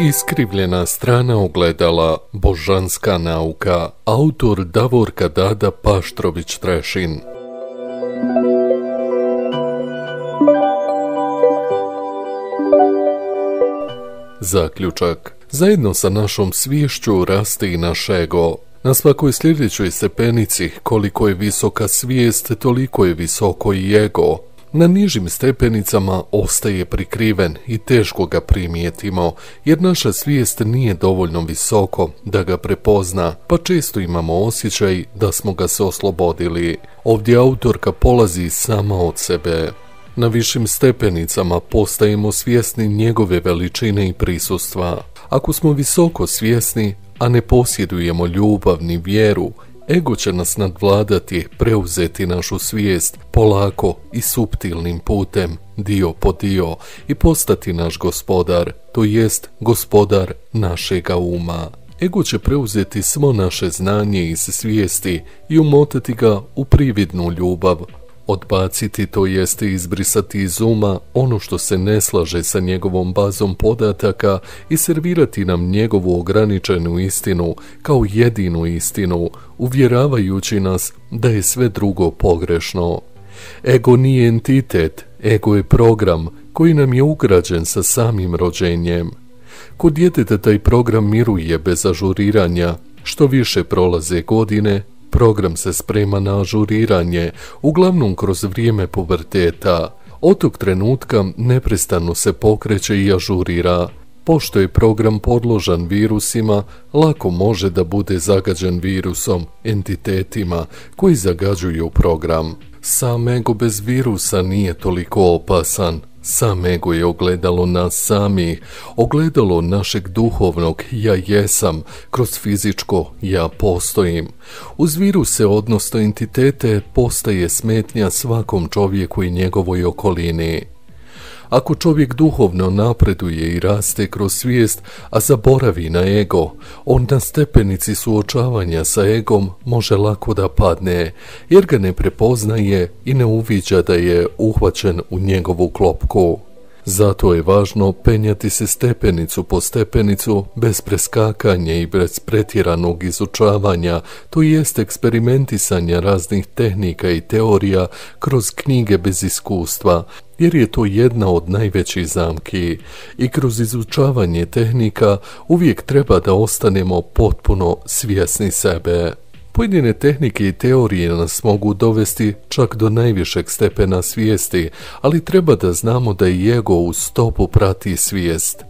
Iskrivljena strana ogledala, božanska nauka, autor Davorka Dada Paštrović-Trešin. Zaključak. Zajedno sa našom sviješću raste i naš ego. Na svakoj sljedećoj stepenici, koliko je visoka svijest, toliko je visoko i ego. Na nižim stepenicama ostaje prikriven i teško ga primijetimo, jer naša svijest nije dovoljno visoko da ga prepozna, pa često imamo osjećaj da smo ga se oslobodili. Ovdje autorka polazi sama od sebe. Na višim stepenicama postajemo svjesni njegove veličine i prisustva. Ako smo visoko svjesni, a ne posjedujemo ljubav ni vjeru, ego će nas nadvladati, preuzeti našu svijest polako i suptilnim putem, dio po dio, i postati naš gospodar, to jest gospodar našega uma. Ego će preuzeti svo naše znanje iz svijesti i umotati ga u prividnu ljubav, odbaciti, to jeste izbrisati iz uma ono što se ne slaže sa njegovom bazom podataka i servirati nam njegovu ograničenu istinu kao jedinu istinu, uvjeravajući nas da je sve drugo pogrešno. Ego nije entitet, ego je program koji nam je ugrađen sa samim rođenjem. Kod djeteta taj program miruje bez ažuriranja, što više prolaze godine, program se sprema na ažuriranje, uglavnom kroz vrijeme puberteta. Od tog trenutka neprestano se pokreće i ažurira. Pošto je program podložan virusima, lako može da bude zagađen virusom, entitetima koji zagađuju program. Sam ego bez virusa nije toliko opasan. Sam ego je ogledalo nas samih, ogledalo našeg duhovnog ja jesam, kroz fizičko ja postojim. Uz viruse, odnosno entitete, postaje smetnja svakom čovjeku i njegovoj okolini. Ako čovjek duhovno napreduje i raste kroz svijest, a zaboravi na ego, on na stepenici suočavanja sa egom može lako da padne, jer ga ne prepoznaje i ne uviđa da je uhvaćen u njegovu klopku. Zato je važno penjati se stepenicu po stepenicu bez preskakanja i bez pretjeranog izučavanja, to jest eksperimentisanja raznih tehnika i teorija kroz knjige bez iskustva, jer je to jedna od najvećih zamki. I kroz izučavanje tehnika uvijek treba da ostanemo potpuno svjesni sebe. Pojedine tehnike i teorije nas mogu dovesti čak do najvišeg stepena svijesti, ali treba da znamo da i ego u stopu prati svijest.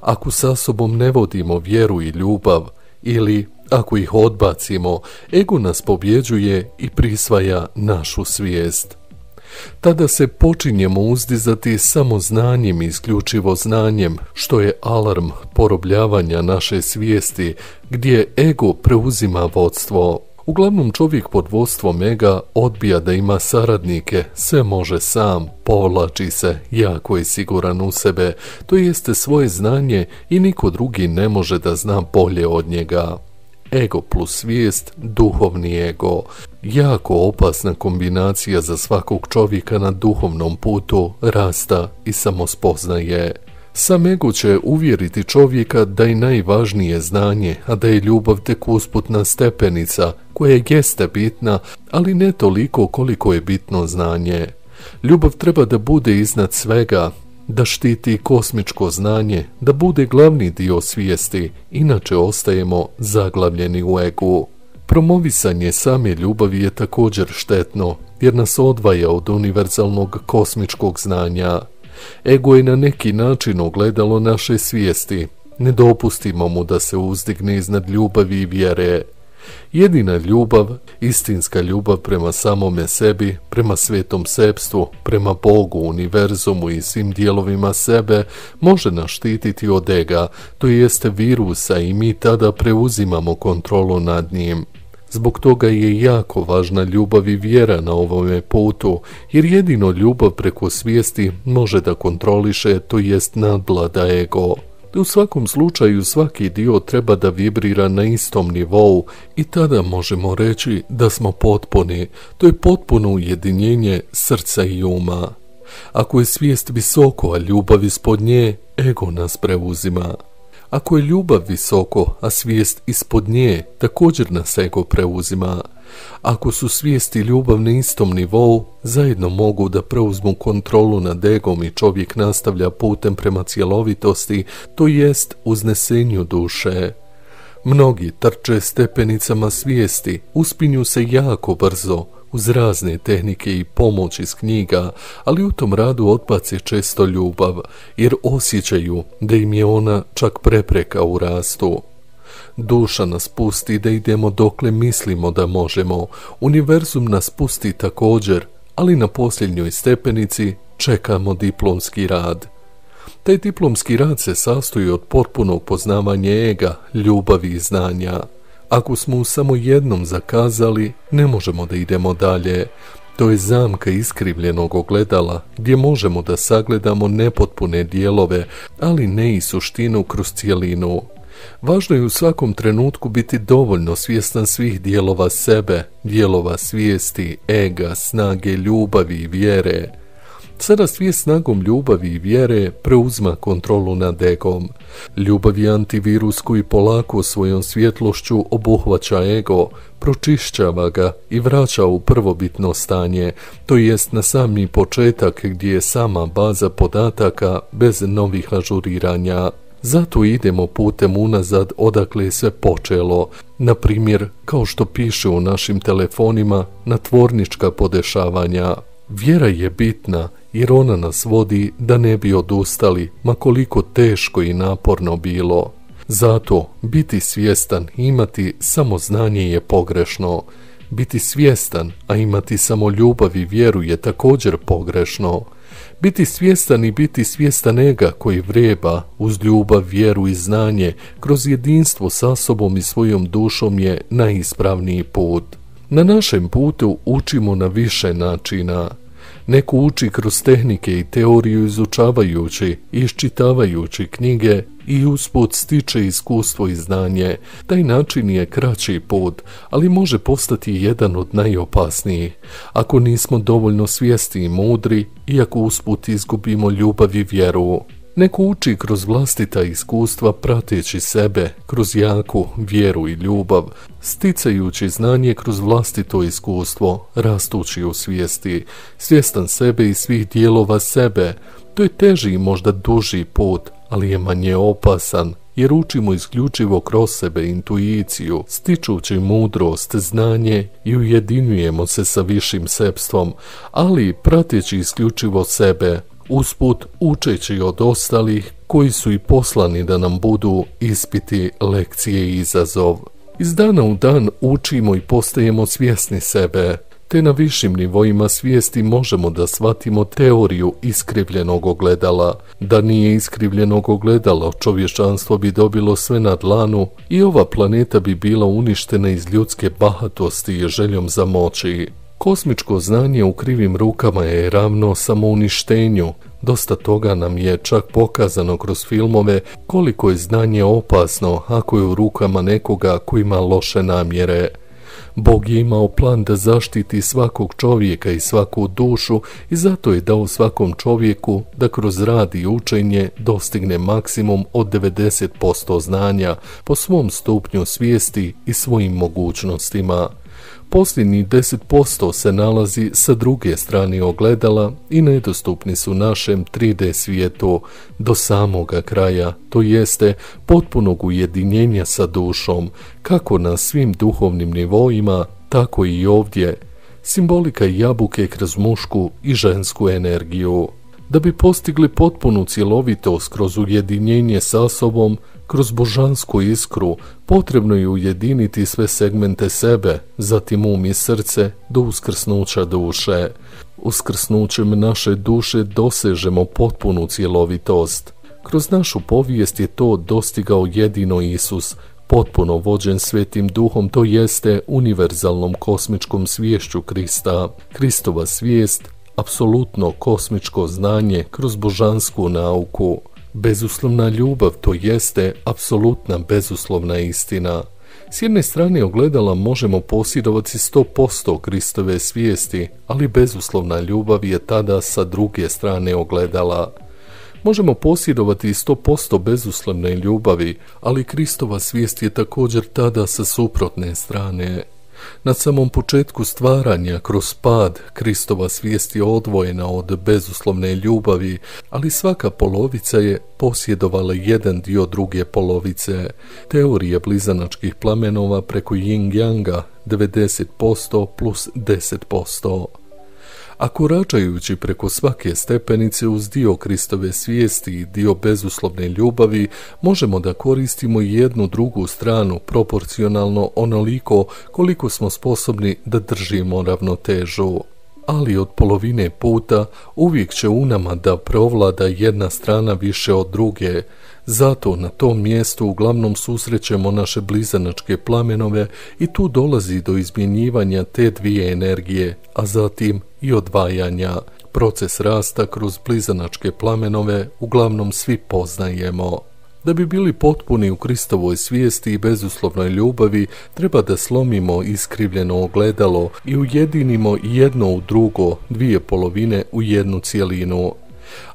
Ako sa sobom ne vodimo vjeru i ljubav, ili ako ih odbacimo, ego nas pobjeđuje i prisvaja našu svijest. Tada se počinjemo uzdizati samo znanjem i isključivo znanjem, što je alarm porobljavanja naše svijesti, gdje ego preuzima vodstvo. Uglavnom čovjek pod vodstvom ega odbija da ima saradnike, sve može sam, povlači se, jako je siguran u sebe, to jeste svoje znanje i niko drugi ne može da zna bolje od njega. Ego plus svijest, duhovni ego. Jako opasna kombinacija za svakog čovjeka na duhovnom putu rasta i samospoznaje. Sam ego će uvjeriti čovjeka da je najvažnije znanje, a da je ljubav tek usputna stepenica, koja jeste bitna, ali ne toliko koliko je bitno znanje. Ljubav treba da bude iznad svega, da štiti kosmičko znanje, da bude glavni dio svijesti, inače ostajemo zaglavljeni u egu. Promovisanje same ljubavi je također štetno, jer nas odvaja od univerzalnog kosmičkog znanja. Ego je na neki način ogledalo naše svijesti. Ne dopustimo mu da se uzdigne iznad ljubavi i vjere. Jedina ljubav, istinska ljubav prema samome sebi, prema svetom sebstvu, prema Bogu, univerzumu i svim dijelovima sebe, može nas štititi od ega, to jeste virusa, i mi tada preuzimamo kontrolu nad njim. Zbog toga je jako važna ljubav i vjera na ovome putu, jer jedino ljubav preko svijesti može da kontroliše, to jest nadvlada ego. U svakom slučaju svaki dio treba da vibrira na istom nivou i tada možemo reći da smo potpuni, to je potpuno ujedinjenje srca i uma. Ako je svijest visoko, a ljubav ispod nje, ego nas preuzima. Ako je ljubav visoko, a svijest ispod nje, također nas ego preuzima. Ako su svijest i ljubav na istom nivou, zajedno mogu da preuzmu kontrolu nad egom i čovjek nastavlja putem prema cjelovitosti, to jest uznesenju duše. Mnogi trče stepenicama svijesti, uspinju se jako brzo, uz razne tehnike i pomoć iz knjiga, ali u tom radu odbace često ljubav, jer osjećaju da im je ona čak prepreka u rastu. Duša nas pusti da idemo dokle mislimo da možemo, univerzum nas pusti također, ali na posljednjoj stepenici čekamo diplomski rad. Taj diplomski rad se sastoji od potpunog poznavanja ega, ljubavi i znanja. Ako smo u samo jednom zakazali, ne možemo da idemo dalje. To je zamka iskrivljenog ogledala, gdje možemo da sagledamo nepotpune dijelove, ali ne i suštinu kroz cijelinu. Važno je u svakom trenutku biti dovoljno svjestan svih dijelova sebe, dijelova svijesti, ega, snage, ljubavi i vjere. Sada svijest snagom ljubavi i vjere preuzma kontrolu nad egom. Ljubav je antivirus koji polako svojom svjetlošću obuhvaća ego, pročišćava ga i vraća u prvobitno stanje, to jest na sami početak gdje je sama baza podataka bez novih ažuriranja. Zato idemo putem unazad odakle je sve počelo, na primjer, kao što piše u našim telefonima, na tvornička podešavanja. Vjera je bitna jer ona nas vodi da ne bi odustali, ma koliko teško i naporno bilo. Zato biti svjestan i imati samo znanje je pogrešno. Biti svjestan, a imati samo ljubav i vjeru je također pogrešno. Biti svjestan i biti svjestan ega koji vreba uz ljubav, vjeru i znanje kroz jedinstvo sa sobom i svojom dušom je najispravniji put. Na našem putu učimo na više načina. Neko uči kroz tehnike i teoriju izučavajući i iščitavajući knjige i usput stiče iskustvo i znanje. Taj način je kraći put, ali može postati jedan od najopasnijih. Ako nismo dovoljno svjesni i mudri, iako usput izgubimo ljubav i vjeru. Neko uči kroz vlastita iskustva prateći sebe, kroz jaku vjeru i ljubav, sticajući znanje kroz vlastito iskustvo, rastući u svijesti, svjestan sebe i svih dijelova sebe. To je teži i možda duži put, ali je manje opasan, jer učimo isključivo kroz sebe intuiciju, stičući mudrost, znanje i ujedinjujemo se sa višim sebstvom, ali prateći isključivo sebe, usput učeći od ostalih koji su i poslani da nam budu ispiti, lekcije i izazov. Iz dana u dan učimo i postajemo svjesni sebe, te na višim nivoima svijesti možemo da shvatimo teoriju iskrivljenog ogledala. Da nije iskrivljenog ogledala, čovječanstvo bi dobilo sve na dlanu i ova planeta bi bila uništena iz ljudske bahatosti i željom za moći. Kosmičko znanje u krivim rukama je ravno samouništenju. Dosta toga nam je čak pokazano kroz filmove koliko je znanje opasno ako je u rukama nekoga koji ima loše namjere. Bog je imao plan da zaštiti svakog čovjeka i svaku dušu i zato je dao svakom čovjeku da kroz rad i učenje dostigne maksimum od 90% znanja po svom stupnju svijesti i svojim mogućnostima. Posljednjih 10% se nalazi sa druge strane ogledala i nedostupni su našem 3D svijetu do samoga kraja, to jeste potpunog ujedinjenja sa dušom, kako na svim duhovnim nivoima, tako i ovdje. Simbolika jabuke kroz mušku i žensku energiju. Da bi postigli potpunu cjelovitost kroz ujedinjenje sa sobom, kroz božansku iskru, potrebno je ujediniti sve segmente sebe, zatim um i srce do uskrsnuća duše. Uskrsnućem naše duše dosežemo potpunu cjelovitost. Kroz našu povijest je to dostigao jedino Isus, potpuno vođen Svetim Duhom, to jeste univerzalnom kosmičkom sviješću Krista. Kristova svijest, apsolutno kosmičko znanje kroz božansku nauku. Bezuslovna ljubav, to jeste apsolutna bezuslovna istina. S jedne strane ogledala možemo posjedovati 100% Kristove svijesti, ali bezuslovna ljubav je tada sa druge strane ogledala. Možemo posjedovati 100% bezuslovne ljubavi, ali Kristova svijest je također tada sa suprotne strane. Na samom početku stvaranja, kroz pad, Kristova svijest je odvojena od bezuslovne ljubavi, ali svaka polovica je posjedovala jedan dio druge polovice. Teorije blizanačkih plamenova preko yin-yanga 90% plus 10%. A koračajući preko svake stepenice uz dio Kristove svijesti i dio bezuslovne ljubavi, možemo da koristimo jednu drugu stranu proporcionalno onoliko koliko smo sposobni da držimo ravnotežu. Ali od polovine puta uvijek će u nama da preovlada jedna strana više od druge. Zato na tom mjestu uglavnom susrećemo naše blizanačke plamenove i tu dolazi do izmjenjivanja te dvije energije, a zatim i odvajanja. Proces rasta kroz blizanačke plamenove uglavnom svi poznajemo. Da bi bili potpuni u Kristovoj svijesti i bezuslovnoj ljubavi, treba da slomimo iskrivljeno ogledalo i ujedinimo jedno u drugo, dvije polovine u jednu cjelinu.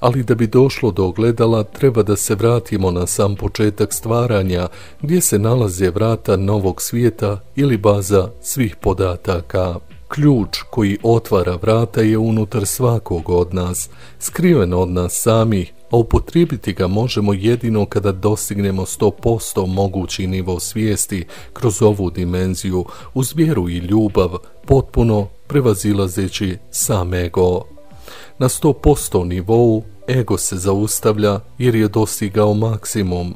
Ali da bi došlo do ogledala, treba da se vratimo na sam početak stvaranja, gdje se nalaze vrata novog svijeta ili baza svih podataka. Ključ koji otvara vrata je unutar svakog od nas, skriven od nas samih, a upotrijebiti ga možemo jedino kada dostignemo 100% mogući nivo svijesti kroz ovu dimenziju, uz vjeru i ljubav, potpuno prevazilazeći sam ego. Na 100% nivou ego se zaustavlja jer je dostigao maksimum.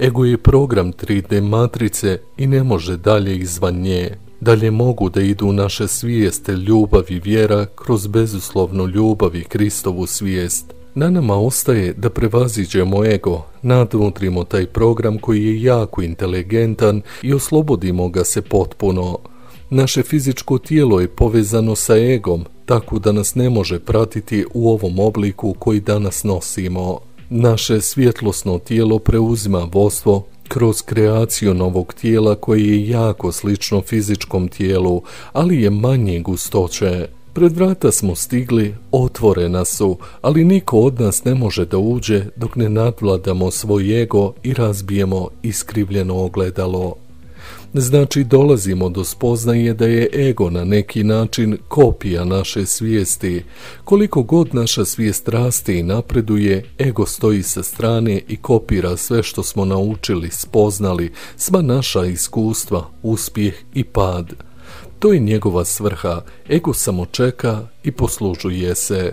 Ego je program 3D matrice i ne može dalje izvan nje. Dalje mogu da idu naše svijeste, ljubav i vjera kroz bezuslovnu ljubav i Kristovu svijest. Na nama ostaje da prevaziđemo ego, nadmudrimo taj program koji je jako inteligentan i oslobodimo ga se potpuno. Naše fizičko tijelo je povezano sa egom, tako da nas ne može pratiti u ovom obliku koji danas nosimo. Naše svjetlosno tijelo preuzima vodstvo kroz kreaciju novog tijela koje je jako slično fizičkom tijelu, ali je manje gustoće. Pred vrata smo stigli, otvorena su, ali niko od nas ne može da uđe dok ne nadvladamo svoj ego i razbijemo iskrivljeno ogledalo. Znači dolazimo do spoznaje da je ego na neki način kopija naše svijesti. Koliko god naša svijest raste i napreduje, ego stoji sa strane i kopira sve što smo naučili, spoznali, sva naša iskustva, uspjeh i pad. To je njegova svrha, ego samo čeka i poslužuje se.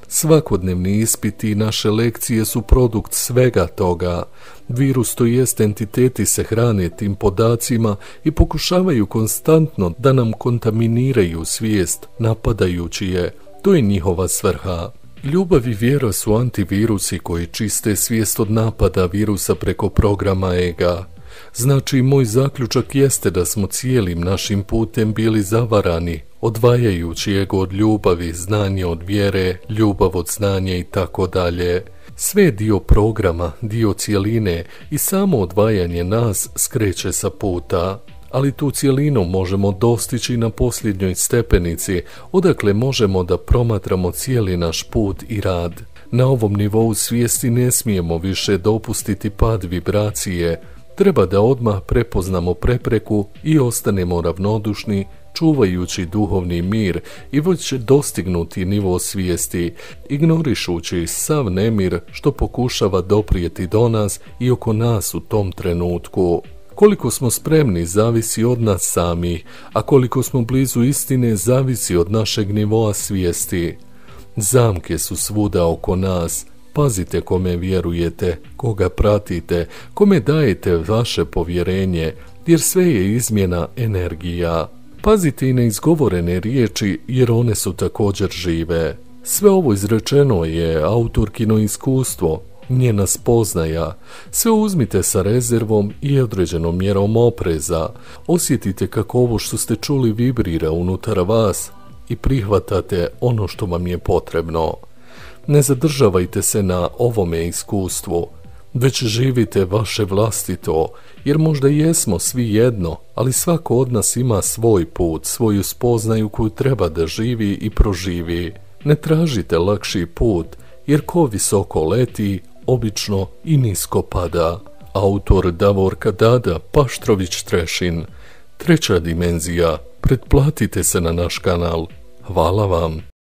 Svakodnevni ispiti i naše lekcije su produkt svega toga. Virus, to jest entiteti, se hrane tim podacima i pokušavaju konstantno da nam kontaminiraju svijest, napadajući je. To je njihova svrha. Ljubav i vjera su antivirusi koji čiste svijest od napada virusa preko programa ega. Znači, moj zaključak jeste da smo cijelim našim putem bili zavarani, odvajajući ego od ljubavi, znanje od vjere, ljubav od znanja i tako dalje. Sve je dio programa, dio cijeline i samo odvajanje nas skreće sa puta. Ali tu cijelinu možemo dostići na posljednjoj stepenici, odakle možemo da promatramo cijeli naš put i rad. Na ovom nivou svijesti ne smijemo više dopustiti pad vibracije. Treba da odmah prepoznamo prepreku i ostanemo ravnodušni, čuvajući duhovni mir i već dostignuti nivo svijesti, ignorišući sav nemir što pokušava doprijeti do nas i oko nas u tom trenutku. Koliko smo spremni zavisi od nas samih, a koliko smo blizu istine zavisi od našeg nivoa svijesti. Zamke su svuda oko nas. Pazite kome vjerujete, koga pratite, kome dajete vaše povjerenje, jer sve je izmjena energija. Pazite i na izgovorene riječi, jer one su također žive. Sve ovo izrečeno je autorkino iskustvo, njena spoznaja. Sve uzmite sa rezervom i određenom mjerom opreza. Osjetite kako ovo što ste čuli vibrira unutar vas i prihvatate ono što vam je potrebno. Ne zadržavajte se na ovome iskustvu, već živite vaše vlastito, jer možda jesmo svi jedno, ali svako od nas ima svoj put, svoju spoznaju koju treba da živi i proživi. Ne tražite lakši put, jer ko visoko leti, obično i nisko pada. Autor Davorka Dada Paštrović Trešin. Treća dimenzija. Pretplatite se na naš kanal. Hvala vam.